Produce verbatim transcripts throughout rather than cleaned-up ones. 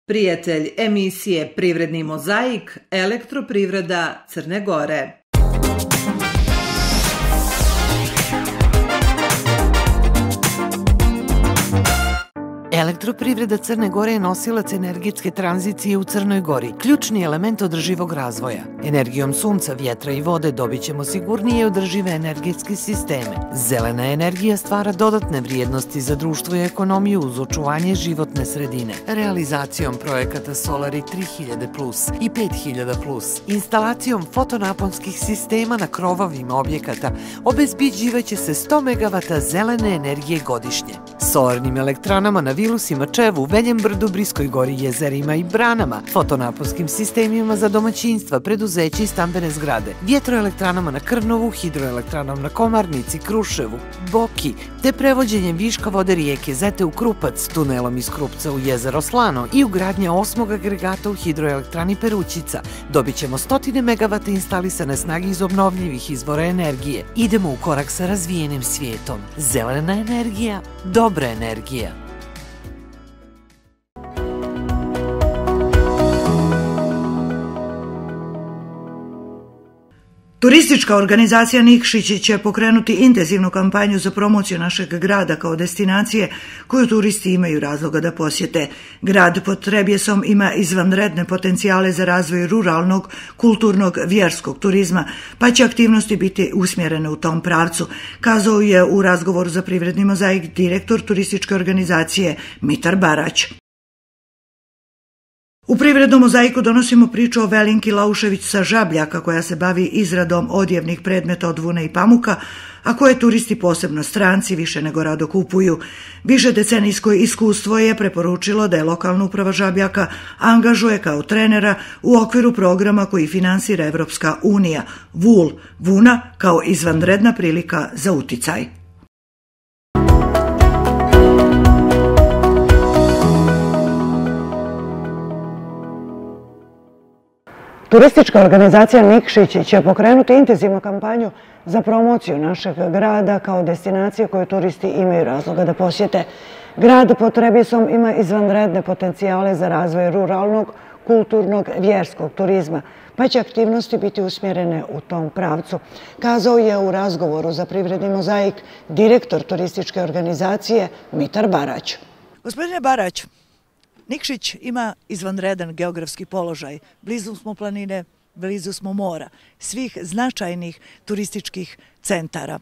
Prijatelj emisije Privredni mozaik, Elektroprivreda Crne Gore. Elektroprivreda Crne Gore je nosilac energetske tranzicije u Crnoj Gori, ključni element održivog razvoja. Energijom sunca, vjetra i vode dobit ćemo sigurnije i održive energetske sisteme. Zelena energija stvara dodatne vrijednosti za društvo i ekonomiju uz očuvanje životne sredine. Realizacijom projekata Solari tri hiljade plus i pet hiljada plus, instalacijom fotonaponskih sistema na krovovima objekata, obezbeđivaće se sto megavata zelene energije godišnje. Solarnim elektranama na Vilusima, Čevu, Veljem Brdu, Briskoj gori, jezerima i branama, fotonaponskim sistemima za domaćinstva, preduzeće i stambene zgrade, vjetroelektranama na Krnovu, hidroelektranama na Komarnici, Kruševu, Boki, te prevođenjem viška vode rijeke Zete u Krupac, tunelom iz Krupca u jezero Slano i ugradnja osmog agregata u hidroelektrani Perućica, dobit ćemo stotine megavata instalisane snage iz obnovljivih izvora energije. Idemo u korak sa razvijenim svijetom. Zelena energija, dobra energija. Turistička organizacija Nikšić će pokrenuti intenzivnu kampanju za promociju našeg grada kao destinacije koju turisti imaju razloga da posjete. Grad pod Trebjesom ima izvanredne potencijale za razvoj ruralnog, kulturnog, vjerskog turizma, pa će aktivnosti biti usmjerene u tom pravcu, kazao je u razgovoru za Privredni mozaik direktor turističke organizacije Mitar Barać. U Privrednom mozaiku donosimo priču o Velinki Laušević sa Žabljaka, koja se bavi izradom odjevnih predmeta od vune i pamuka, a koje turisti, posebno stranci, više nego rado kupuju. Više decenijsko iskustvo je preporučilo da je lokalna uprava Žabljaka angažuje kao trenera u okviru programa koji finansira Evropska unija, Vul, vuna kao izvanredna prilika za uticaj. Turistička organizacija Nikšić će pokrenuti intenzivnu kampanju za promociju našeg grada kao destinacije koju turisti imaju razloga da posjete. Grad pod Trebjesom ima izvanredne potencijale za razvoj ruralnog, kulturnog, vjerskog turizma, pa će aktivnosti biti usmjerene u tom pravcu, kazao je u razgovoru za Privredni mozaik direktor turističke organizacije Mitar Barać. Gospodine Barać, Nikšić ima izvanredan geografski položaj. Blizu smo planine, blizu smo mora, svih značajnih turističkih centara.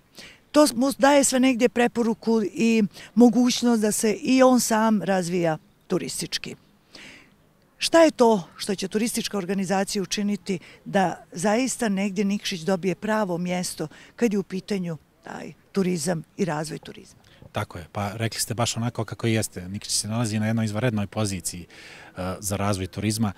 To mu daje sve negdje preporuku i mogućnost da se i on sam razvija turistički. Šta je to što će turistička organizacija učiniti da zaista negdje Nikšić dobije pravo mjesto kad je u pitanju taj turizam i razvoj turizma? Tako je, pa rekli ste baš onako kako jeste. Nikšić se nalazi na jednoj izvanrednoj poziciji za razvoj turizma.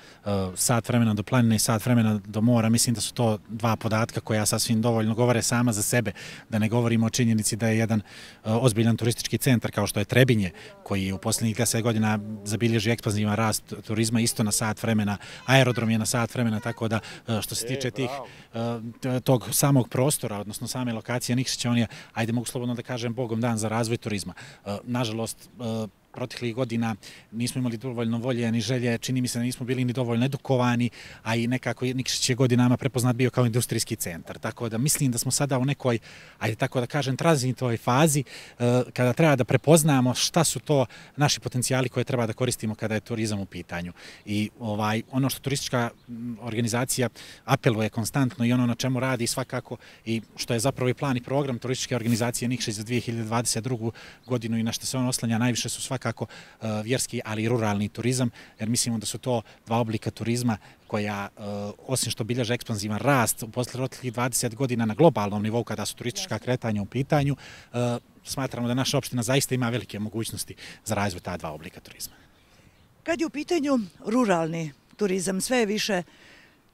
Sat vremena do planine i sat vremena do mora, mislim da su to dva podatka koja sasvim dovoljno govore sama za sebe, da ne govorimo o činjenici da je jedan ozbiljan turistički centar kao što je Trebinje, koji u posljednjih deset godina zabilježi ekspanzivan rast turizma isto na sat vremena, aerodrom je na sat vremena, tako da što se tiče tih, tog samog prostora, odnosno same lokacije Nikšića, on je, ajde mogu slobodno da kažem, bogom dan za razvoj turizma. Nažalost, proteklih godina nismo imali dovoljno volje ni želje, čini mi se da nismo bili ni dovoljno edukovani, a i nekako Nikšić je godinama prepoznat bio kao industrijski centar. Tako da mislim da smo sada u nekoj, ajde tako da kažem, tranzitnoj fazi kada treba da prepoznamo šta su to naši potencijali koje treba da koristimo kada je turizam u pitanju. I ovaj, ono što turistička organizacija apeluje konstantno i ono na čemu radi svakako i što je zapravo i plan i program turističke organizacije Nikšić za dvije hiljade dvadeset drugu godinu i na što se on oslanja najviše su svakako kako vjerski, ali i ruralni turizam, jer mislimo da su to dva oblika turizma koja, osim što bilježe ekspanzivan rast u posljednjih dvadeset godina na globalnom nivou kada su turistička kretanja u pitanju, smatramo da naša opština zaista ima velike mogućnosti za razvoj ta dva oblika turizma. Kad je u pitanju ruralni turizam, sve je više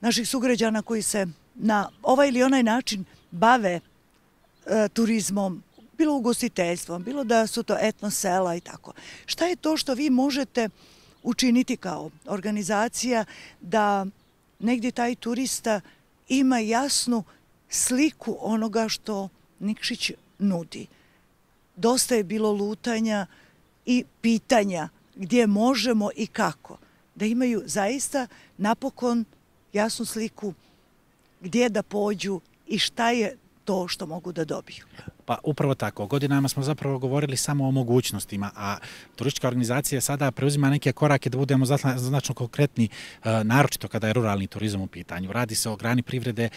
naših sugrađana koji se na ovaj ili onaj način bave turizmom, bilo ugostiteljstvom, bilo da su to etno sela i tako. Šta je to što vi možete učiniti kao organizacija da negdje taj turista ima jasnu sliku onoga što Nikšić nudi? Dosta je bilo lutanja i pitanja gdje možemo i kako. da imaju zaista napokon jasnu sliku gdje da pođu i šta je to što mogu da dobiju. Pa upravo tako. Godinama smo zapravo govorili samo o mogućnostima, a turistička organizacija sada preuzima neke korake da budemo značno konkretni, naročito kada je ruralni turizam u pitanju. Radi se o grani privrede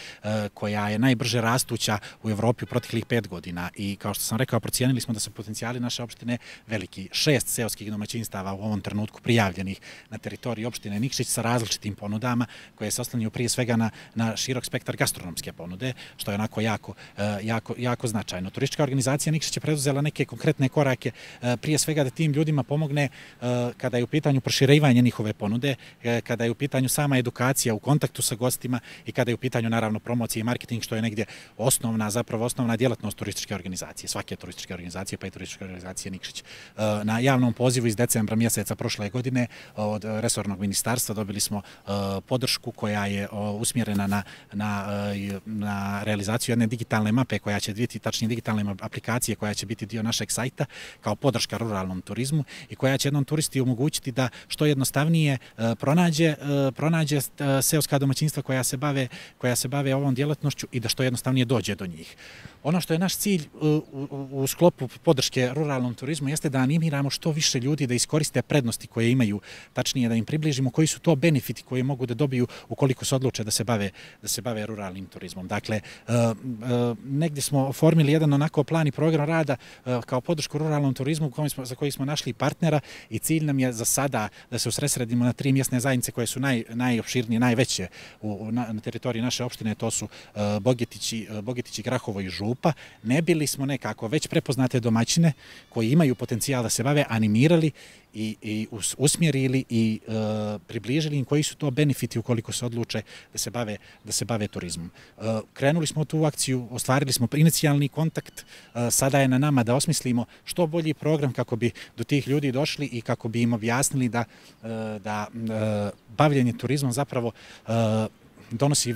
koja je najbrže rastuća u Evropi u proteklih pet godina i kao što sam rekao, procijenili smo da su potencijali naše opštine veliki. Šest seoskih domaćinstava u ovom trenutku prijavljenih na teritoriji opštine Nikšić sa različitim ponudama koje se oslanjaju prije svega na, na širok spektar gastronomske ponude, što je onako jako, jako, jako značajno. Turistička organizacija Nikšić je preduzela neke konkretne korake, prije svega da tim ljudima pomogne kada je u pitanju proširivanje njihove ponude, kada je u pitanju sama edukacija u kontaktu sa gostima i kada je u pitanju naravno promocija i marketing, što je negdje osnovna, zapravo osnovna djelatnost turističke organizacije, svake turističke organizacije, pa i turističke organizacije Nikšić. Na javnom pozivu iz decembra mjeseca prošle godine od resornog ministarstva dobili smo podršku koja je usmjerena na, na, na realizaciju jedne digitalne mape koja će biti tačnije digitalne aplikacije koja će biti dio našeg sajta kao podrška ruralnom turizmu i koja će jednom turisti omogućiti da što jednostavnije pronađe, pronađe seoska domaćinstva koja se bave, koja se bave ovom djelatnošću i da što jednostavnije dođe do njih. Ono što je naš cilj u, u, u sklopu podrške ruralnom turizmu jeste da animiramo što više ljudi da iskoriste prednosti koje imaju, tačnije da im približimo koji su to benefiti koje mogu da dobiju ukoliko se odluče da se bave, da se bave ruralnim turizmom. Dakle, negdje smo oformili jedan onako plan i program rada kao podršku ruralnom turizmu za koji smo našli partnera i cilj nam je za sada da se usredsredimo na tri mjesne zajednice koje su naj, najopširnije, najveće u, na, na teritoriji naše opštine, to su Bogetići, Bogetići, Grahovo i Župa. Ne bili smo nekako već prepoznate domaćine koji imaju potencijal da se bave, animirali i, i usmjerili i e, približili im koji su to benefiti ukoliko se odluče da se bave, da se bave turizmom. E, krenuli smo u tu akciju, ostvarili smo inicijalni kontakt, e, sada je na nama da osmislimo što bolji program kako bi do tih ljudi došli i kako bi im objasnili da, e, da e, bavljenje turizmom zapravo e, Donosi,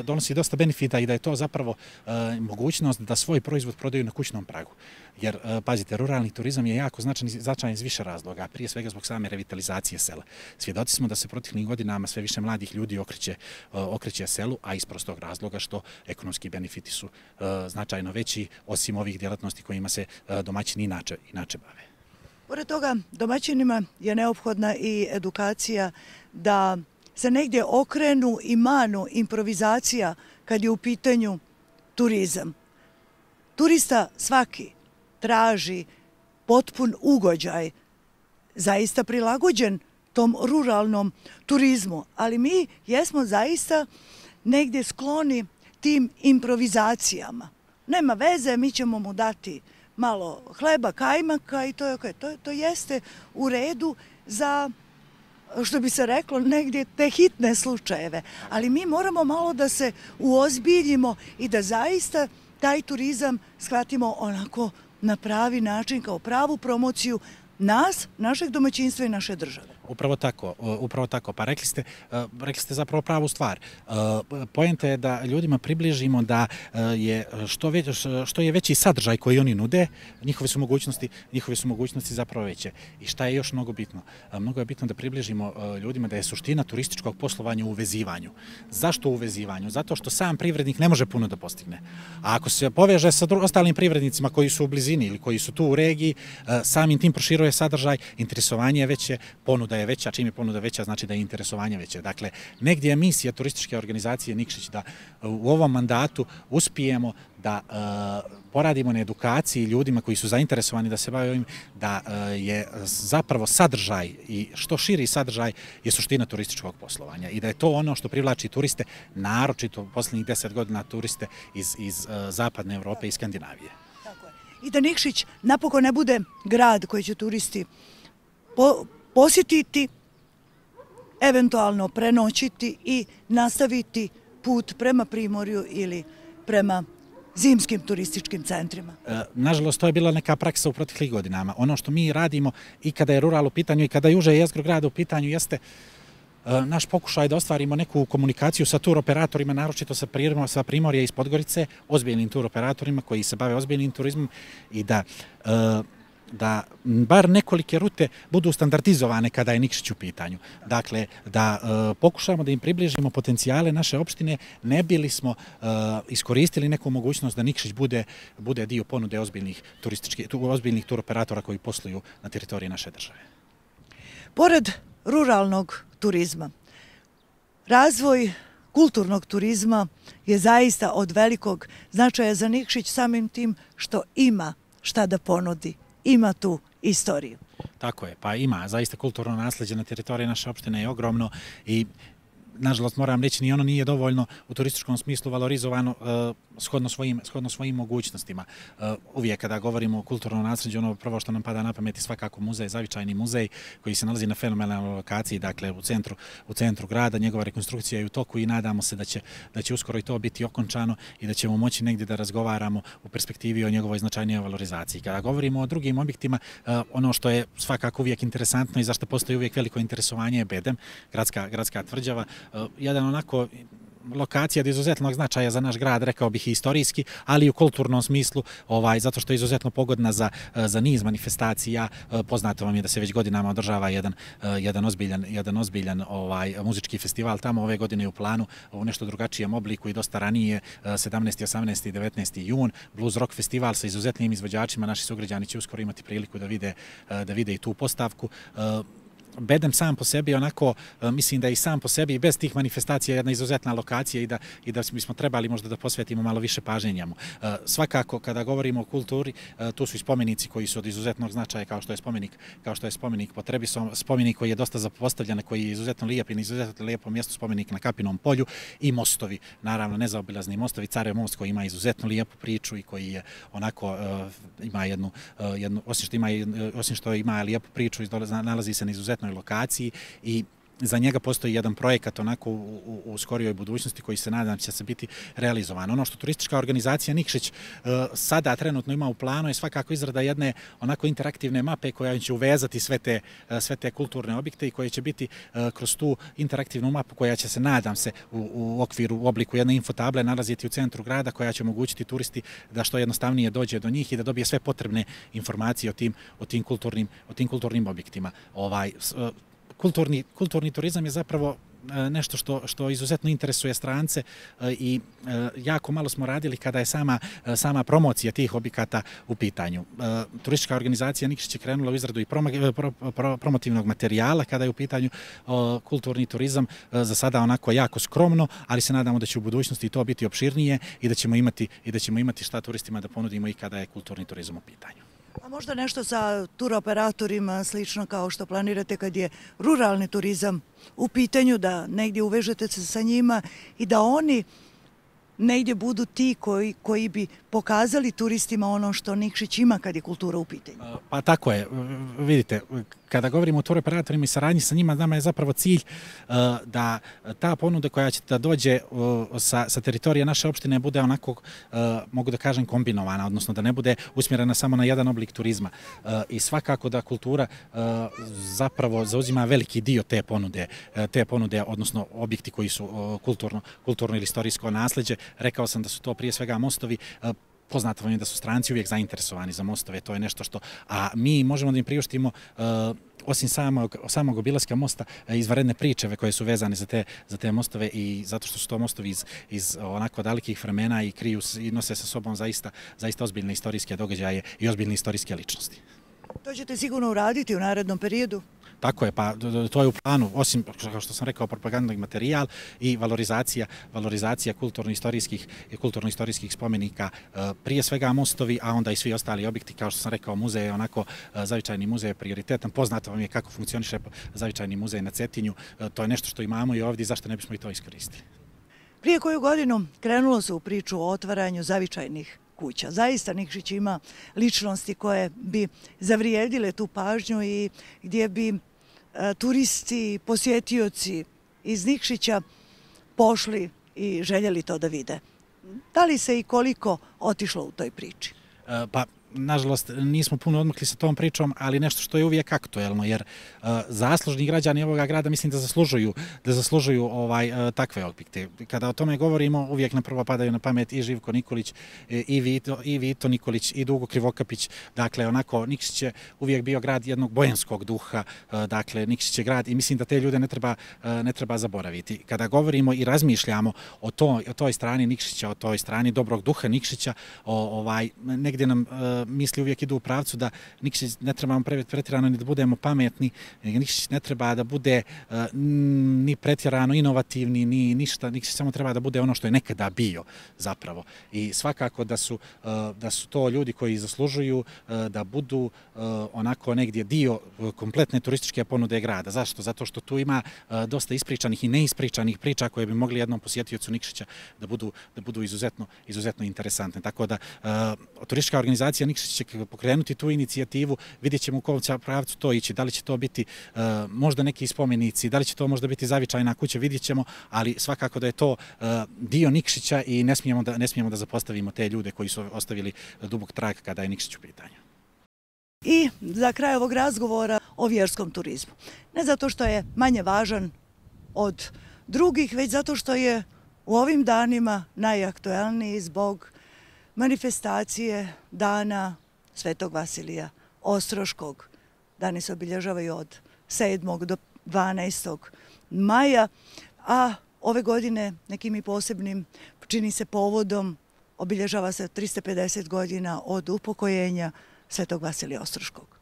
donosi dosta benefita i da je to zapravo e, mogućnost da svoj proizvod prodaju na kućnom pragu. Jer, e, pazite, ruralni turizam je jako značajan, značajan iz više razloga, prije svega zbog same revitalizacije sela. Svjedoci smo da se proteklih godinama sve više mladih ljudi okreće, e, okreće selu, a iz prostog razloga što ekonomski benefiti su e, značajno veći, osim ovih djelatnosti kojima se e, domaćini inače, inače bave. Pored toga, domaćinima je neophodna i edukacija da se negdje okrenu i manu improvizacija kad je u pitanju turizam. Turista svaki traži potpun ugođaj, zaista prilagođen tom ruralnom turizmu, ali mi jesmo zaista negdje skloni tim improvizacijama. Nema veze, mi ćemo mu dati malo hleba, kajmaka i to je okay. to, to jeste u redu za, što bi se reklo, negdje te hitne slučajeve. Ali mi moramo malo da se uozbiljimo i da zaista taj turizam shvatimo onako na pravi način, kao pravu promociju nas, našeg domaćinstva i naše države. Upravo tako, upravo tako. Pa rekli ste, rekli ste zapravo pravu stvar. Poenta je da ljudima približimo da je što, već, što je veći sadržaj koji oni nude, njihove su mogućnosti, njihove su mogućnosti zapravo veće. I šta je još mnogo bitno? Mnogo je bitno da približimo ljudima da je suština turističkog poslovanja u uvezivanju. Zašto u uvezivanju? Zato što sam privrednik ne može puno da postigne. A ako se poveže sa ostalim privrednicima koji su u blizini ili koji su tu u regiji, samim tim proširuje sadržaj, interesovanje je veće, ponuda je veća, čim je ponuda veća, znači da je interesovanje veće. Dakle, negdje je misija turističke organizacije Nikšić da u ovom mandatu uspijemo da uh, poradimo na edukaciji ljudima koji su zainteresovani da se bave ovim, da uh, je zapravo sadržaj i što širi sadržaj je suština turističkog poslovanja i da je to ono što privlači turiste, naročito u posljednjih deset godina turiste iz, iz uh, zapadne Evrope i Skandinavije. Tako je. I da Nikšić napokon ne bude grad koji će turisti po posjetiti, eventualno prenoćiti i nastaviti put prema Primorju ili prema zimskim turističkim centrima. E, nažalost, to je bila neka praksa u proteklih godinama. Ono što mi radimo i kada je rural u pitanju i kada je uže jezgro grada u pitanju jeste e, naš pokušaj da ostvarimo neku komunikaciju sa tur operatorima, naročito sa, sa Primorja iz Podgorice, ozbiljnim tur operatorima koji se bave ozbiljnim turizmom i da e, da bar nekolike rute budu standardizovane kada je Nikšić u pitanju. Dakle, da e, pokušamo da im približimo potencijale naše opštine, ne bili smo e, iskoristili neku mogućnost da Nikšić bude, bude dio ponude ozbiljnih, turističkih, ozbiljnih turoperatora koji posluju na teritoriji naše države. Pored ruralnog turizma, razvoj kulturnog turizma je zaista od velikog značaja za Nikšić samim tim što ima šta da ponudi, ima tu istoriju. Tako je, pa ima, zaista kulturno nasleđe na teritoriji naše opštine je ogromno i nažalost moram reći ni ono nije dovoljno u turističkom smislu valorizovano uh, shodno, svojim, shodno svojim mogućnostima. Uh, uvijek kada govorimo o kulturnom nasleđu, ono prvo što nam pada na pamet je svakako muzej, Zavičajni muzej koji se nalazi na fenomenalnoj lokaciji, dakle u centru, u centru grada, njegova rekonstrukcija je u toku i nadamo se da će, da će uskoro i to biti okončano i da ćemo moći negdje da razgovaramo u perspektivi o njegovoj značajnijoj valorizaciji. Kada govorimo o drugim objektima, uh, ono što je svakako uvijek interesantno i zašto postoji uvijek veliko interesovanje je Bedem, gradska, gradska tvrđava. Uh, jedan onako lokacija od izuzetnog značaja za naš grad, rekao bih i istorijski, ali i u kulturnom smislu, ovaj, zato što je izuzetno pogodna za, za niz manifestacija. Poznato vam je da se već godinama održava jedan, jedan ozbiljan, jedan ozbiljan ovaj, muzički festival tamo ove godine u planu u nešto drugačijem obliku i dosta ranije, sedamnaesti, osamnaesti i devetnaesti jun, Blues Rock festival sa izuzetnim izvođačima. Naši sugrađani će uskoro imati priliku da vide, da vide i tu postavku. Bedem sam po sebi, onako, mislim da je i sam po sebi i bez tih manifestacija jedna izuzetna lokacija i da, i da bismo trebali možda da posvetimo malo više pažnje njemu. Svakako, kada govorimo o kulturi, tu su i spomenici koji su od izuzetnog značaja, kao što je spomenik, kao što je spomenik po Trebisom, spomenik koji je dosta zapostavljen, koji je izuzetno lijep i na izuzetno lijepo mjesto, spomenik na Kapinom polju i mostovi, naravno nezaobilazni mostovi, Carev most koji ima izuzetno lijepu priču i koji je onako, ima jednu, jednu osim što ima, osim što ima lijepu priču, nalazi se na izuzetno lokaciji i za njega postoji jedan projekat onako u, u, u skorijoj budućnosti koji se nadam će se biti realizovan. Ono što turistička organizacija Nikšić uh, sada trenutno ima u planu je svakako izrada jedne onako interaktivne mape koja će uvezati sve te, uh, sve te kulturne objekte i koje će biti uh, kroz tu interaktivnu mapu koja će se, nadam se, u, u okviru, u obliku jedne infotable nalaziti u centru grada koja će omogućiti turisti da što jednostavnije dođe do njih i da dobije sve potrebne informacije o tim, o tim, kulturnim, o tim kulturnim objektima. Ovaj, uh, Kulturni, kulturni turizam je zapravo nešto što, što izuzetno interesuje strance i jako malo smo radili kada je sama, sama promocija tih objekata u pitanju. Turistička organizacija Nikšić je krenula u izradu i promo, pro, pro, promotivnog materijala kada je u pitanju kulturni turizam, za sada onako jako skromno, ali se nadamo da će u budućnosti to biti opširnije i da ćemo imati, i da ćemo imati šta turistima da ponudimo i kada je kulturni turizam u pitanju. A možda nešto sa turoperatorima slično kao što planirate kad je ruralni turizam u pitanju, da negdje uvežete se sa njima i da oni negdje budu ti koji, koji bi pokazali turistima ono što Nikšić ima kad je kultura u pitanju. Pa tako je. Vidite, kada govorimo o turoperatorima i saradnji sa njima, nama je zapravo cilj da ta ponuda koja će da dođe sa, sa teritorije naše opštine bude onako, mogu da kažem, kombinovana, odnosno da ne bude usmjerena samo na jedan oblik turizma. I svakako da kultura zapravo zauzima veliki dio te ponude, te ponude, odnosno objekti koji su kulturno, kulturno ili istorijsko nasleđe. Rekao sam da su to prije svega mostovi. Poznato vam je da su stranci uvijek zainteresovani za mostove, to je nešto što, a mi možemo da im priuštimo uh, osim samog, samog obilaska mosta, izvanredne pričeve koje su vezane za te, za te mostove i zato što su to mostovi iz, iz onako dalekih vremena i kriju i nose sa sobom zaista, zaista ozbiljne istorijske događaje i ozbiljne istorijske ličnosti. To ćete sigurno uraditi u narednom periodu? Tako je, pa to je u planu, osim, kao što sam rekao, propagandni materijal i valorizacija, valorizacija kulturno-istorijskih i kulturno-istorijskih spomenika, prije svega mostovi, a onda i svi ostali objekti, kao što sam rekao, muzej je onako, Zavičajni muzej je prioritetan, poznato vam je kako funkcioniše Zavičajni muzej na Cetinju, to je nešto što imamo i ovdje, zašto ne bismo i to iskoristili. Prije koju godinu krenulo se u priču o otvaranju zavičajnih kuća. Zaista Nikšić ima ličnosti koje bi zavrijedile tu pažnju i gdje bi e, turisti, posjetioci iz Nikšića pošli i željeli to da vide. Da li se i koliko otišlo u toj priči? Pa nažalost, nismo puno odmakli sa tom pričom, ali nešto što je uvijek aktuelno, jer uh, zaslužni građani ovoga grada mislim da zaslužuju, da zaslužuju ovaj, uh, takve objekte. Kada o tome govorimo, uvijek na prvo padaju na pamet i Živko Nikolić, i Vito, i Vito Nikolić, i Dugo Krivokapić. Dakle, onako, Nikšić je uvijek bio grad jednog bojanskog duha, uh, dakle, Nikšić je grad i mislim da te ljude ne treba, uh, ne treba zaboraviti. Kada govorimo i razmišljamo o, to, o toj strani Nikšića, o toj strani dobrog duha Nikšića, o, ovaj, negdje nam uh, misli uvijek idu u pravcu da Nikšić ne trebamo pretjerano ni da budemo pametni, Nikšić ne treba da bude uh, ni pretjerano inovativni, ni ništa, Nikšić samo treba da bude ono što je nekada bio zapravo. I svakako da su, uh, da su to ljudi koji zaslužuju uh, da budu uh, onako negdje dio kompletne turističke ponude grada. Zašto? Zato što tu ima uh, dosta ispričanih i neispričanih priča koje bi mogli jednom posjetiocu Nikšića da budu, da budu izuzetno, izuzetno interesantne. Tako da uh, turistička organizacija Nikšić će pokrenuti tu inicijativu, vidjet ćemo u kom će pravcu to ići, da li će to biti uh, možda neki spomenici, da li će to možda biti zavičajna kuća, vidjet ćemo, ali svakako da je to uh, dio Nikšića i ne smijemo da, ne smijemo da zapostavimo te ljude koji su ostavili dubok trag kada je Nikšić u pitanju. I za kraj ovog razgovora o vjerskom turizmu. Ne zato što je manje važan od drugih, već zato što je u ovim danima najaktuelniji zbog manifestacije dana Svetog Vasilija Ostroškog. Dani se obilježavaju od sedmog do dvanaestog maja, a ove godine nekim i posebnim, čini se povodom, obilježava se tristo pedeset godina od upokojenja Svetog Vasilija Ostroškog.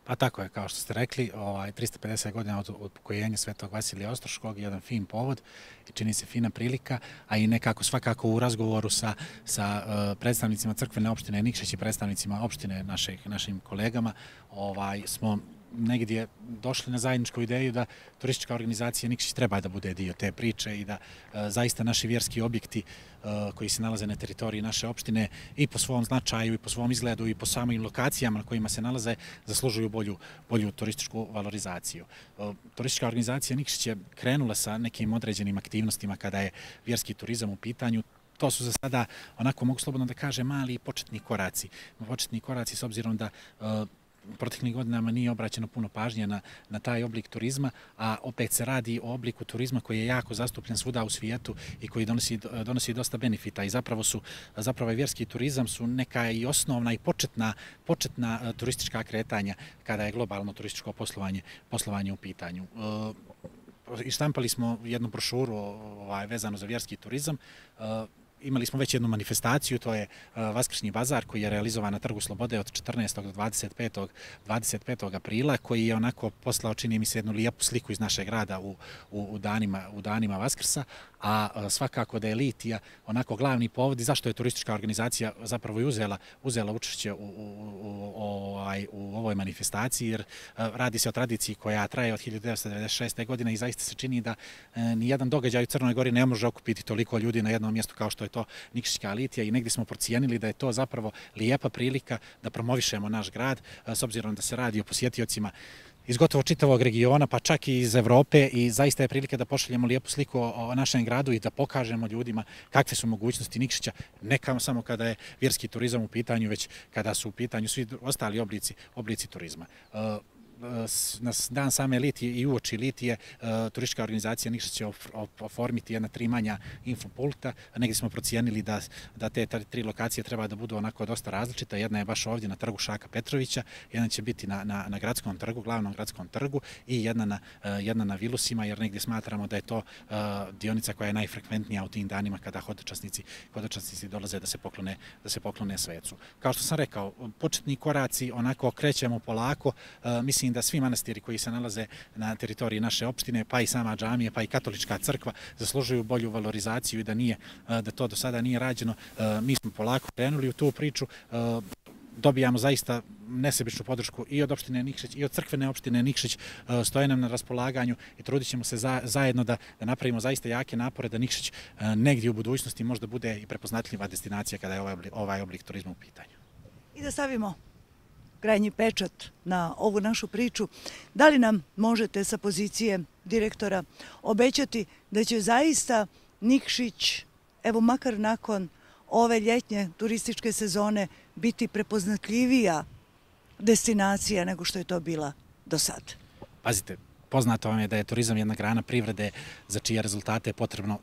Pa tako je, kao što ste rekli, ovaj, tristo pedeset godina od upokojenja Svetog Vasilija Ostroškog, jedan fin povod i čini se fina prilika, a i nekako svakako u razgovoru sa, sa uh, predstavnicima crkvene opštine Nikšić i predstavnicima opštine naših, našim kolegama ovaj, smo negdje došli na zajedničku ideju da turistička organizacija Nikšić treba da bude dio te priče i da uh, zaista naši vjerski objekti uh, koji se nalaze na teritoriji naše opštine i po svom značaju i po svom izgledu i po samim lokacijama na kojima se nalaze zaslužuju bolju, bolju turističku valorizaciju. Uh, turistička organizacija Nikšić je krenula sa nekim određenim aktivnostima kada je vjerski turizam u pitanju. To su za sada, onako mogu slobodno da kažem, mali početni koraci. Početni koraci s obzirom da uh, proteklih godinama nije obraćeno puno pažnje na, na taj oblik turizma, a opet se radi o obliku turizma koji je jako zastupljen svuda u svijetu i koji donosi, donosi dosta benefita i zapravo su, zapravo je vjerski turizam su neka i osnovna i početna, početna turistička kretanja kada je globalno turističko poslovanje, poslovanje u pitanju. E, ištampali smo jednu brošuru ovaj, vezano za vjerski turizam. E, Imali smo već jednu manifestaciju, to je Vaskršnji bazar koji je realizovan na Trgu Slobode od četrnaestog do dvadeset petog dvadeset petog aprila, koji je onako poslao, čini mi se, jednu lijepu sliku iz našeg grada u, u, u, danima, u danima Vaskrsa, a svakako da je litija onako glavni povod i zašto je turistička organizacija zapravo i uzela, uzela učešće u, u, u, ovaj, u ovoj manifestaciji, jer radi se o tradiciji koja traje od hiljadu devetsto devedeset šeste. godine i zaista se čini da nijedan događaj u Crnoj Gori ne može okupiti toliko ljudi na jednom mjestu kao što je to Nikšićka litija i negdje smo procijenili da je to zapravo lijepa prilika da promovišemo naš grad, s obzirom da se radi o posjetiocima iz gotovo čitavog regiona, pa čak i iz Evrope i zaista je prilika da pošaljemo lijepu sliku o našem gradu i da pokažemo ljudima kakve su mogućnosti Nikšića, ne samo kada je vjerski turizam u pitanju, već kada su u pitanju svi ostali oblici, oblici turizma. Na dan same litije i uoči litije turistička organizacija Nikšić će oformiti jedna tri manja infopulta. Negdje smo procijenili da, da te tri lokacije treba da budu onako dosta različita. Jedna je baš ovdje na trgu Šaka Petrovića, jedna će biti na, na, na gradskom trgu, glavnom gradskom trgu i jedna na, jedna na Vilusima, jer negdje smatramo da je to dionica koja je najfrekventnija u tim danima kada hodočasnici, hodočasnici dolaze da se poklone, da se poklone svecu. Kao što sam rekao, početni koraci onako krećemo polako, mislim da svi manastiri koji se nalaze na teritoriji naše opštine, pa i sama džamija, pa i katolička crkva zaslužuju bolju valorizaciju i da nije, da to do sada nije rađeno. Mi smo polako krenuli u tu priču, dobijamo zaista nesebičnu podršku i od opštine Nikšić i od crkvene opštine Nikšić, stoje nam na raspolaganju i trudit ćemo se za, zajedno da, da napravimo zaista jake napore da Nikšić negdje u budućnosti možda bude i prepoznatljiva destinacija kada je ovaj oblik, ovaj oblik turizma u pitanju. I da stavimo krajnji pečat na ovu našu priču. Da li nam možete sa pozicije direktora obećati da će zaista Nikšić, evo makar nakon ove ljetnje turističke sezone, biti prepoznatljivija destinacija nego što je to bila do sad? Pazite, poznato vam je da je turizam jedna grana privrede za čije rezultate je potrebno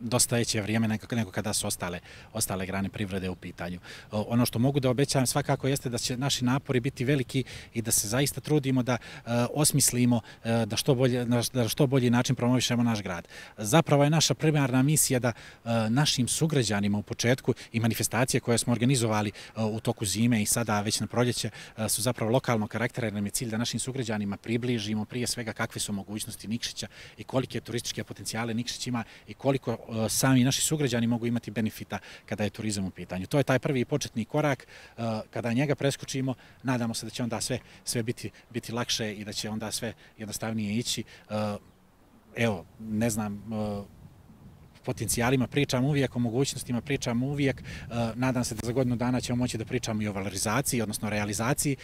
dosta veće vrijeme nego kada su ostale, ostale grane privrede u pitanju. Ono što mogu da obećavam svakako jeste da će naši napori biti veliki i da se zaista trudimo da uh, osmislimo uh, da, što bolje, da što bolji način promovišemo naš grad. Zapravo je naša primarna misija da uh, našim sugrađanima u početku i manifestacije koje smo organizovali uh, u toku zime i sada već na proljeće uh, su zapravo lokalnog karaktera, jer nam je cilj da našim sugrađanima približimo prije svega kakve su mogućnosti Nikšića i kolike turističke potencijale Nikšić ima i koliko sami naši sugrađani mogu imati benefita kada je turizam u pitanju. To je taj prvi početni korak. Kada njega preskočimo, nadamo se da će onda sve, sve biti, biti lakše i da će onda sve jednostavnije ići. Evo, ne znam, potencijalima pričam uvijek, o mogućnostima pričam uvijek. Nadam se da za godinu dana ćemo moći da pričamo i o valorizaciji, odnosno realizaciji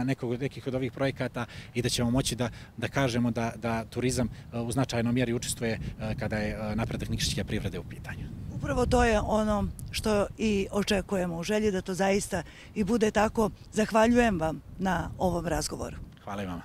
nekog, nekih od ovih projekata i da ćemo moći da, da kažemo da, da turizam u značajnoj mjeri učestvuje kada je napredak nikšićke privrede u pitanju. Upravo to je ono što i očekujemo u želji da to zaista i bude tako. Zahvaljujem vam na ovom razgovoru. Hvala i vama.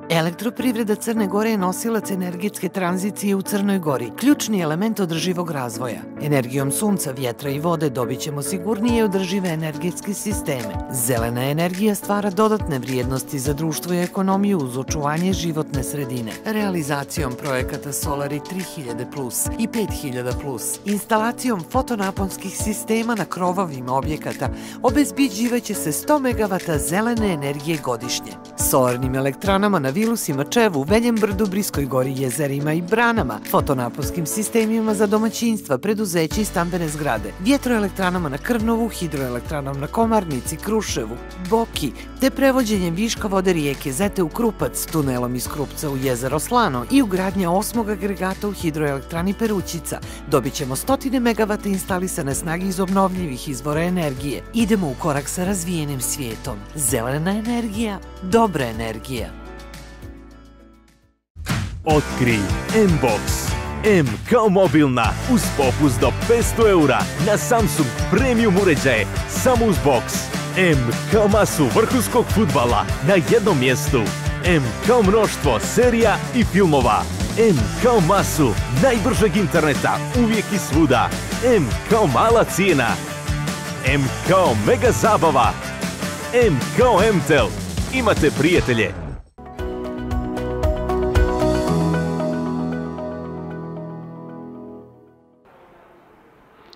Elektroprivreda Crne Gore je nosilac energetske tranzicije u Crnoj Gori, ključni element održivog razvoja. Energijom sunca, vjetra i vode dobit ćemo sigurnije i održive energetske sisteme. Zelena energija stvara dodatne vrijednosti za društvo i ekonomiju uz očuvanje životne sredine. Realizacijom projekata Solari tri hiljade plus i pet hiljada plus, instalacijom fotonaponskih sistema na krovovima objekata obezbeđivaće se sto megavata zelene energije godišnje. Solarnim elektranama na Vilusima, Čevu, Veljem brdu, Briskoj gori, jezerima i branama, fotonaponskim sistemima za domaćinstva, preduzeće i stambene zgrade, vjetroelektranama na Krnovu, hidroelektranama na Komarnici, Kruševu, Boki, te prevođenjem viška vode rijeke Zete u Krupac, tunelom iz Krupca u jezero Slano i ugradnja osmog agregata u hidroelektrani Perućica, dobit ćemo stotine megavata instalisane snage iz obnovljivih izvora energije. Idemo u korak sa razvijenim svijetom. Zelena energija, dobra energija. Otkrij M-Box. M kao mobilna, uz popust do petsto eura na Samsung Premium uređaje, samo uz box. M kao masu vrhunskog fudbala na jednom mjestu. M kao mnoštvo serija i filmova. M kao masu najbržeg interneta, uvijek i svuda. M kao mala cijena. M kao mega zabava. M kao M-Tel. Imate prijatelje.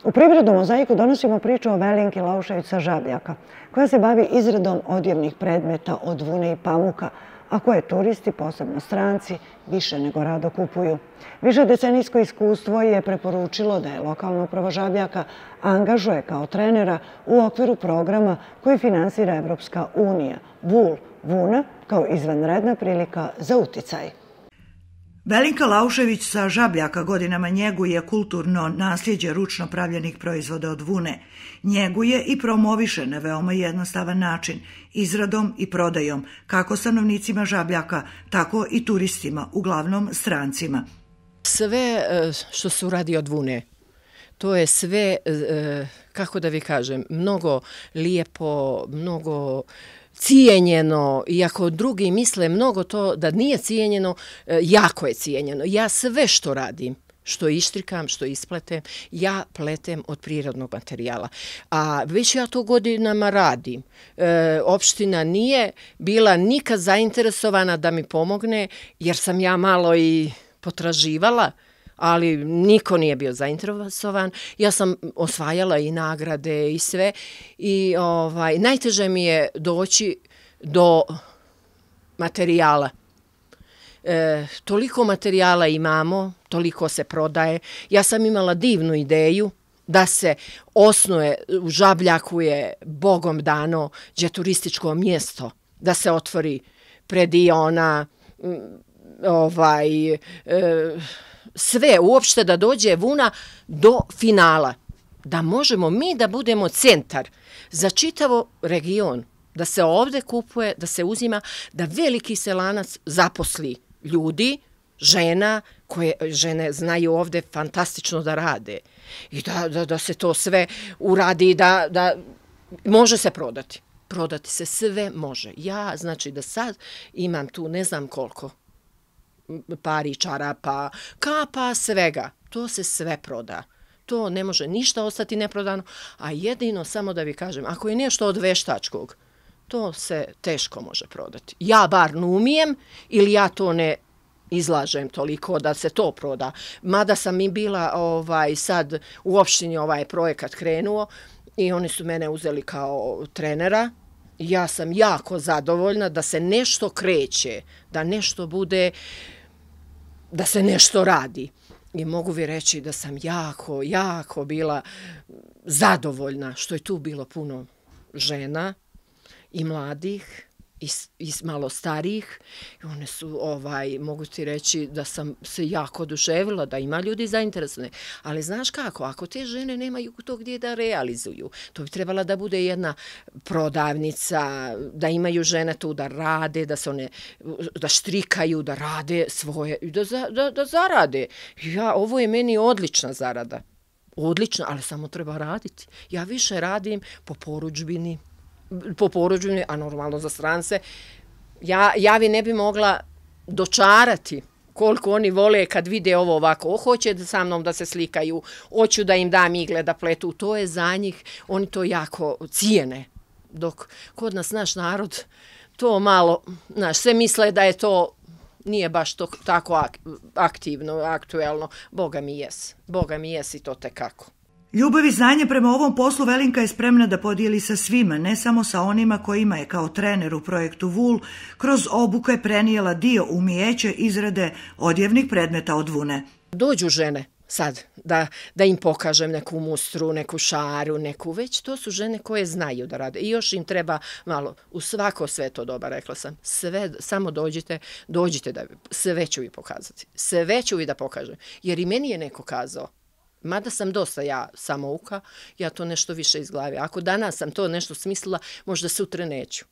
U Privrednom mozaiku donosimo priču o Velinki Laušević sa Žabljaka, koja se bavi izradom odjevnih predmeta od vune i pamuka, a koje turisti, posebno stranci, više nego rado kupuju. Višedecenijsko iskustvo je preporučilo da je lokalna uprava Žabljaka angažuje kao trenera u okviru programa koji finansira Evropska unija, Vul, Vuna, kao izvanredna prilika za uticaj. Velinka Laušević sa Žabljaka godinama njeguje kulturno nasljeđe ručno pravljenih proizvoda od vune. Njeguje i promoviše na veoma jednostavan način, izradom i prodajom, kako stanovnicima Žabljaka, tako i turistima, uglavnom strancima. Sve što se uradi od vune, to je sve, kako da vi kažem, mnogo lijepo, mnogo cijenjeno, iako drugi misle mnogo to da nije cijenjeno, jako je cijenjeno. Ja sve što radim, što ištrikam, što ispletem, ja pletem od prirodnog materijala. A već ja to godinama radim. E, opština nije bila nikad zainteresovana da mi pomogne, jer sam ja malo i potraživala, ali niko nije bio zainteresovan. Ja sam osvajala i nagrade i sve. I ovaj, najteže mi je doći do materijala. E, toliko materijala imamo, toliko se prodaje. Ja sam imala divnu ideju da se osnuje, u Žabljaku je Bogom dano gdje turističko mjesto, da se otvori prediona, ovaj... E, sve, uopšte da dođe vuna do finala. Da možemo mi da budemo centar za čitavo region. Da se ovde kupuje, da se uzima, da veliki selanac zaposli ljudi, žena, koje žene znaju ovde fantastično da rade i da, da, da se to sve uradi, da, da može se prodati. Prodati se sve može. Ja, znači da sad imam tu ne znam koliko pari, čarapa, kapa, svega. To se sve proda. To ne može ništa ostati neprodano, a jedino, samo da vi kažem, ako je nešto od veštačkog, to se teško može prodati. Ja bar ne umijem ili ja to ne izlažem toliko da se to proda. Mada sam i bila ovaj, sad u opštini ovaj projekat krenuo i oni su mene uzeli kao trenera. Ja sam jako zadovoljna da se nešto kreće, da nešto bude, da se nešto radi. I mogu vi reći da sam jako, jako bila zadovoljna što je tu bilo puno žena i mladih i, i malo starijih. I one su, ovaj, mogu ti reći da sam se jako oduševila, da ima ljudi zainteresovane. Ali znaš kako, ako te žene nemaju to gdje da realizuju, to bi trebala da bude jedna prodavnica, da imaju žene tu da rade, da se one, da štrikaju, da rade svoje, da, da, da zarade. Ja, ovo je meni odlična zarada. Odlična, ali samo treba raditi. Ja više radim po porudžbini, po porudžbini, a normalno za strance. Ja, ja vi ne bi mogla dočarati koliko oni vole kad vide ovo ovako. Hoće sa mnom da se slikaju, hoću da im dam igle da pletu. To je za njih, oni to jako cijene. Dok kod nas naš narod to malo, znaš, sve misle da je to, nije baš to, tako aktivno, aktuelno. Boga mi jes. Boga mi jes i to tekako. Ljubav i znanje prema ovom poslu Velinka je spremna da podijeli sa svima, ne samo sa onima kojima je kao trener u projektu Vul kroz obuke prenijela dio umijeće izrade odjevnih predmeta od vune. Dođu žene sad da, da im pokažem neku mustru, neku šaru, neku već, to su žene koje znaju da rade i još im treba malo, u svako sve to doba, rekla sam, sve, samo dođite, dođite da sve ću vi pokazati, sve ću vi da pokažem, jer i meni je neko kazao, mada sam dosta ja samouka, ja to nešto više iz glave. Ako danas sam to nešto smislila, možda sutra neću.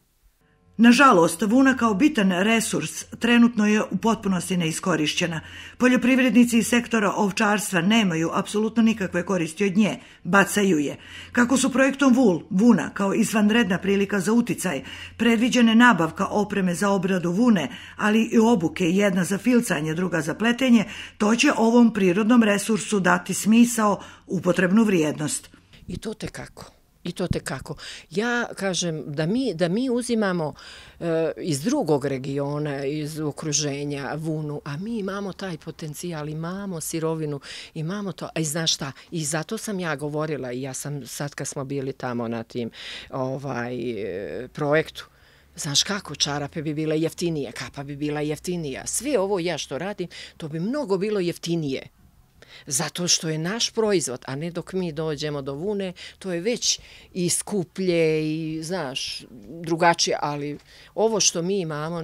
Nažalost, vuna kao bitan resurs trenutno je u potpunosti neiskorišćena. Poljoprivrednici iz sektora ovčarstva nemaju apsolutno nikakve koristi od nje, bacaju je. Kako su projektom Vul, vuna kao izvanredna prilika za uticaj, predviđene nabavka opreme za obradu vune, ali i obuke, jedna za filcanje, druga za pletenje, to će ovom prirodnom resursu dati smisao, upotrebnu vrijednost. I to te kako? I to te kako. Ja kažem da mi, da mi uzimamo e, iz drugog regiona, iz okruženja vunu, a mi imamo taj potencijal, imamo sirovinu, imamo to. A i znaš šta, i zato sam ja govorila i ja sam sad kad smo bili tamo na tim ovaj, projektu, znaš kako, čarape bi bile jeftinije, kapa bi bila jeftinija. Sve ovo ja što radim, to bi mnogo bilo jeftinije. Zato što je naš proizvod, a ne dok mi dođemo do vune, to je već i skuplje i, znaš, drugačije, ali ovo što mi imamo,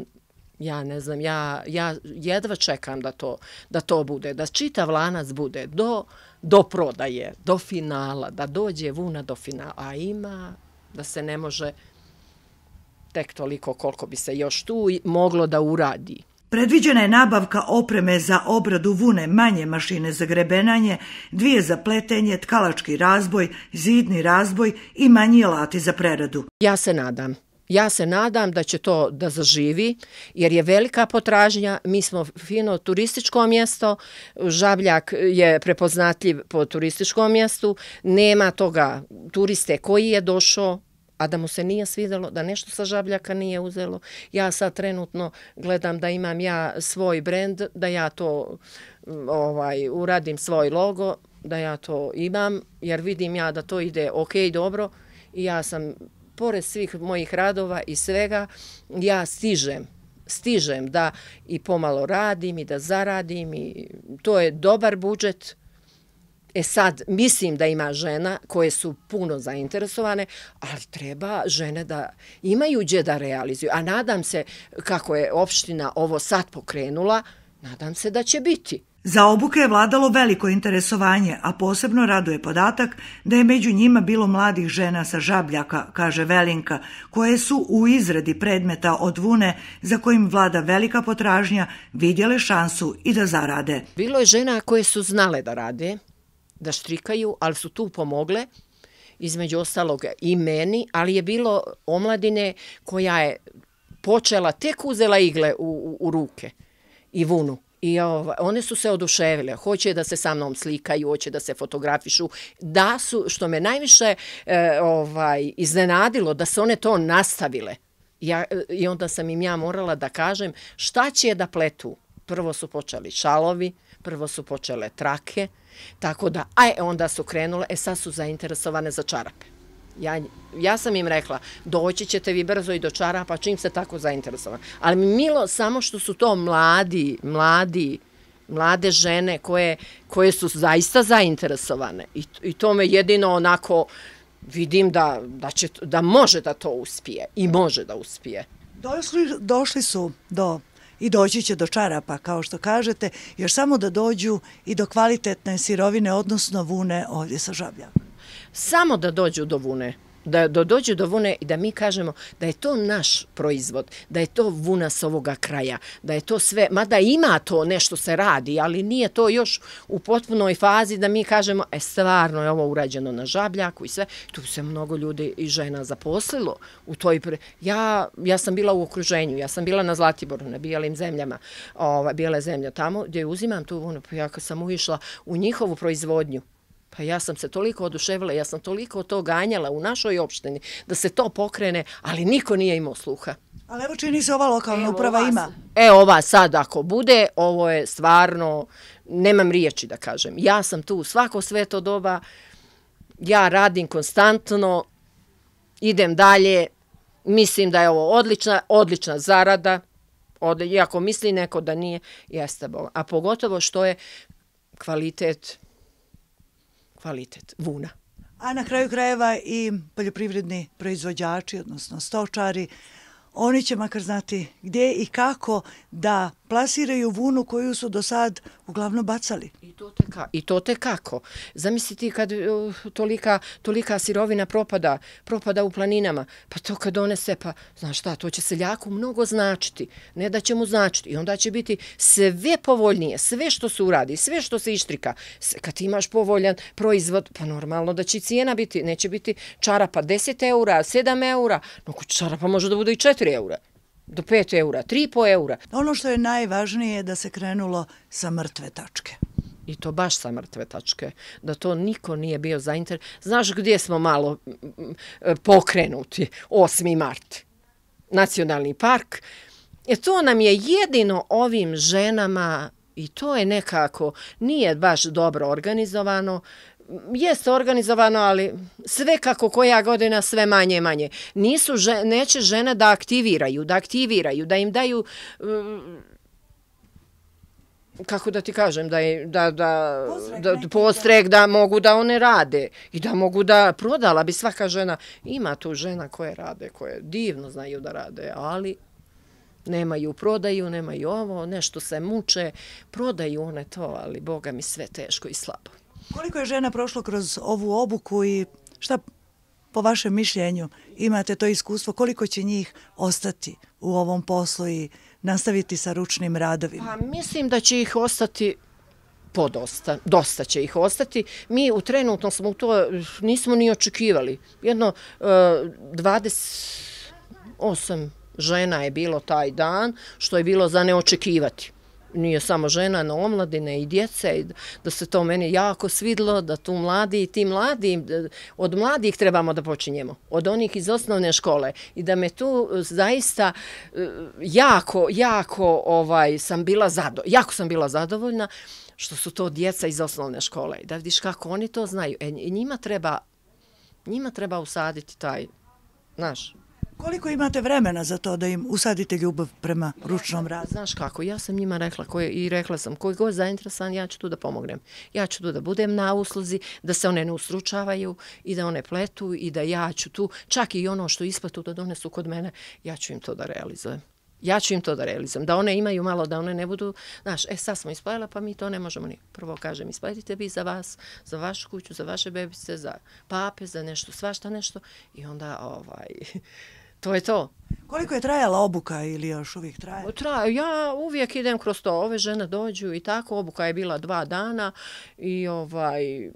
ja ne znam, ja, ja jedva čekam da to, da to bude, da čitav lanac bude do, do prodaje, do finala, da dođe vuna do finala, a ima da se ne može tek toliko koliko bi se još tu moglo da uradi. Predviđena je nabavka opreme za obradu vune, manje mašine za grebenanje, dvije za pletenje, tkalački razboj, zidni razboj i manji alati za preradu. Ja se nadam. Ja se nadam da će to da zaživi, jer je velika potražnja. Mi smo fino turističko mjesto, Žabljak je prepoznatljiv po turističkom mjestu, nema toga turiste koji je došao, a da mu se nije svidjelo, da nešto sa Žabljaka nije uzelo. Ja sad trenutno gledam da imam ja svoj brend, da ja to ovaj, uradim svoj logo, da ja to imam, jer vidim ja da to ide ok, dobro, i ja sam, pored svih mojih radova i svega, ja stižem, stižem da i pomalo radim i da zaradim i to je dobar budžet. E sad, mislim da ima žena koje su puno zainteresovane, ali treba žene da imaju gdje da realizuju. A nadam se, kako je opština ovo sad pokrenula, nadam se da će biti. Za obuke je vladalo veliko interesovanje, a posebno raduje podatak da je među njima bilo mladih žena sa Žabljaka, kaže Velinka, koje su u izradi predmeta od vune za kojim vlada velika potražnja vidjele šansu i da zarade. Bilo je žena koje su znale da rade, da štrikaju, ali su tu pomogle, između ostalog i meni, ali je bilo omladine koja je počela, tek uzela igle u, u, u ruke i vunu. I ovaj, one su se oduševile, hoće da se sa mnom slikaju, hoće da se fotografišu, da su, što me najviše e, ovaj, iznenadilo, da su one to nastavile. Ja, I onda sam im ja morala da kažem šta će da pletu. Prvo su počeli šalovi, prvo su počele trake, tako da, aj, onda su krenule, e sad su zainteresovane za čarape. Ja, ja sam im rekla, doći ćete vi brzo i do čarapa, čim se tako zainteresovani. Ali mi milo samo što su to mladi, mladi, mlade žene koje, koje su zaista zainteresovane. I, i to me jedino onako vidim da, da, će, da može da to uspije i može da uspije. Došli, došli su do i doći će do čarapa, kao što kažete, još samo da dođu i do kvalitetne sirovine, odnosno vune ovdje sa Žabljaka. Samo da dođu do vune, da, da dođu do vune i da mi kažemo da je to naš proizvod, da je to vuna s ovoga kraja, da je to sve, mada ima to nešto se radi, ali nije to još u potpunoj fazi da mi kažemo, e stvarno je ovo urađeno na Žabljaku i sve, tu se mnogo ljudi i žena zaposlilo u toj, pre... ja, ja sam bila u okruženju, ja sam bila na Zlatiboru, na bijelim zemljama, ova, bijele zemlje tamo gdje uzimam tu vunu, pa ja kad sam ušla u njihovu proizvodnju, pa ja sam se toliko oduševila, ja sam toliko to ganjala u našoj opštini da se to pokrene, ali niko nije imao sluha. Ali evo čini se ova lokalna uprava ima. E, ova sad ako bude, ovo je stvarno, nemam riječi da kažem. Ja sam tu svako sveto doba, ja radim konstantno, idem dalje, mislim da je ovo odlična, odlična zarada, od, iako misli neko da nije, jeste Boga. A pogotovo što je kvalitet kvalitet vuna. A na kraju krajeva i poljoprivredni proizvođači, odnosno stočari, oni će makar znati gdje i kako da plasiraju vunu koju su do sad uglavnom bacali. I to te, ka, i to te kako. Zamisliti kad uh, tolika, tolika sirovina propada, propada u planinama, pa to kad donese, pa znaš šta, to će seljaku mnogo značiti. Ne da će mu značiti. I onda će biti sve povoljnije, sve što se uradi, sve što se ištrika. Kad imaš povoljan proizvod, pa normalno da će cijena biti, neće biti čarapa deset eura, sedam eura, no čarapa može da bude i četiri eura. Do pet eura, tri i po eura. Ono što je najvažnije je da se krenulo sa mrtve tačke. I to baš sa mrtve tačke. Da to niko nije bio zainteresovan. Znaš gdje smo malo pokrenuti? osmi mart. Nacionalni park. E to nam je jedino ovim ženama, i to je nekako, nije baš dobro organizovano. Jeste organizovano, ali sve kako koja godina, sve manje i manje. Nisu, neće žene da aktiviraju, da aktiviraju, da im daju, kako da ti kažem, da, da, da, da postrek da mogu da one rade i da mogu da prodala bi svaka žena. Ima tu žena koje rade, koje divno znaju da rade, ali nemaju prodaju, nemaju ovo, nešto se muče, prodaju one to, ali Boga mi sve teško i slabo. Koliko je žena prošlo kroz ovu obuku i šta po vašem mišljenju imate to iskustvo, koliko će njih ostati u ovom poslu i nastaviti sa ručnim radovima? Pa mislim da će ih ostati podosta, dosta će ih ostati. Mi u trenutno smo to nismo ni očekivali. Jedno dvadeset osam žena je bilo taj dan, što je bilo za neočekivati. Nije samo žena, no omladine i djece, da se to meni jako svidlo, da tu mladi i ti mladi, od mladih trebamo da počinjemo, od onih iz osnovne škole i da me tu zaista jako, jako ovaj, sam bila zadovoljna, jako sam bila zadovoljna što su to djeca iz osnovne škole i da vidiš kako oni to znaju. E, njima treba, njima treba usaditi taj, znaš, koliko imate vremena za to da im usadite ljubav prema ručnom radu? Znaš kako, ja sam njima rekla koje, i rekla sam koji god zainteresovan, ja ću tu da pomognem. Ja ću tu da budem na usluzi, da se one ne ustručavaju i da one pletu i da ja ću tu, čak i ono što isplatu da donesu kod mene, ja ću im to da realizujem. Ja ću im to da realizujem, da one imaju malo, da one ne budu, znaš, e sad smo ispalila pa mi to ne možemo ni. Prvo kažem, isplatite vi za vas, za vašu kuću, za vaše bebice, za pape, za nešto, svašta nešto i onda ovaj, to je to. Koliko je trajala obuka ili još uvijek traje? Traje, ja uvijek idem kroz to, ove žene dođu i tako, obuka je bila dva dana i ovaj,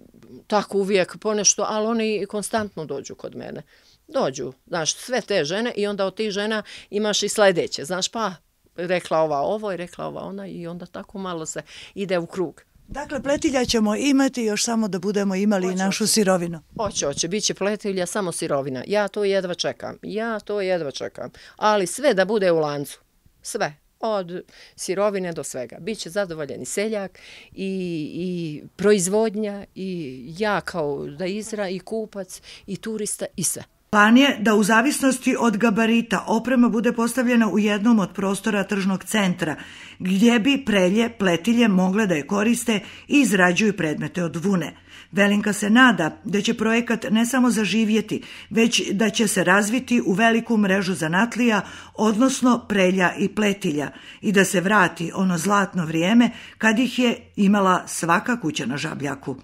tako uvijek ponešto, ali oni konstantno dođu kod mene. Dođu, znaš, sve te žene i onda od tih žena imaš i sledeće, znaš, pa rekla ova ovo i rekla ova ona i onda tako malo se ide u krug. Dakle, pletilja ćemo imati još samo da budemo imali i našu sirovinu. Hoće, hoće, bit će pletilja, samo sirovina. Ja to jedva čekam, ja to jedva čekam, ali sve da bude u lancu, sve. Od sirovine do svega. Biće zadovoljen i seljak i, i proizvodnja i ja kao da izra i kupac i turista i sve. Plan je da u zavisnosti od gabarita oprema bude postavljena u jednom od prostora tržnog centra, gdje bi prelje, pletilje mogle da je koriste i izrađuju predmete od vune. Velinka se nada da će projekat ne samo zaživjeti, već da će se razviti u veliku mrežu zanatlija, odnosno prelja i pletilja, i da se vrati ono zlatno vrijeme kad ih je imala svaka kuća na Žabljaku.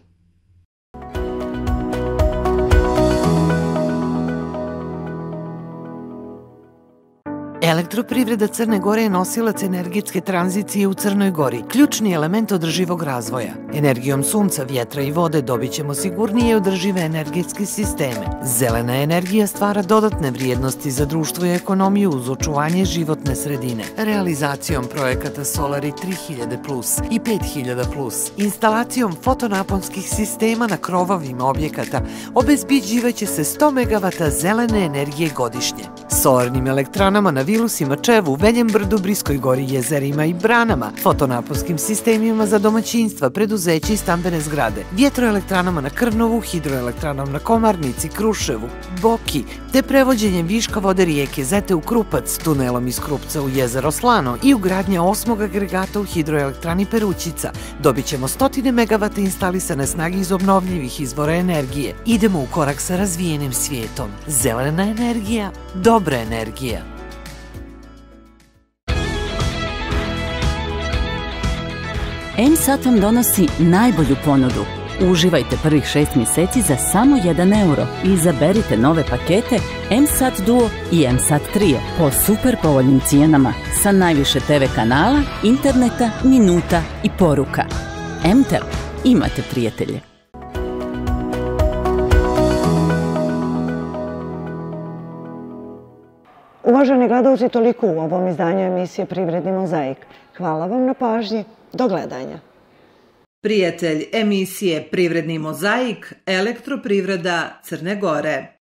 Elektroprivreda Crne Gore je nosilac energetske tranzicije u Crnoj Gori, ključni element održivog razvoja. Energijom sunca, vjetra i vode dobit ćemo sigurnije i održive energetske sisteme. Zelena energija stvara dodatne vrijednosti za društvo i ekonomiju uz očuvanje životne sredine. Realizacijom projekata Solari tri hiljade plus i pet hiljada plus, instalacijom fotonaponskih sistema na krovovima objekata, obezbeđivaće se sto megavata zelene energije godišnje. Solarnim elektranama na Vilusima, Čevu, Veljem brdu, Briskoj gori, jezerima i branama, fotonaponskim sistemima za domaćinstva, preduzeće i stambene zgrade, vjetroelektranama na Krnovu, hidroelektranama na Komarnici, Kruševu, Boki, te prevođenjem viška vode rijeke Zete u Krupac, tunelom iz Krupca u jezero Slano i ugradnja osmog agregata u hidroelektrani Perućica, dobit ćemo stotine megavata instalisane snage iz obnovljivih izvora energije. Idemo u korak sa razvijenim svijetom. Zelena energija, dobra energija. M SAT vam donosi najbolju ponudu. Uživajte prvih šest mjeseci za samo jedan euro i izaberite nove pakete M SAT Duo i M SAT Trio po super povoljnim cijenama sa najviše te ve kanala, interneta, minuta i poruka. M Tel, imate prijatelje. Uvaženi gledalci, toliko u ovom izdanju emisije Privredni mozaik. Hvala vam na pažnji. Do gledanja. Prijatelj emisije Privredni mozaik, Elektroprivreda Crne Gore.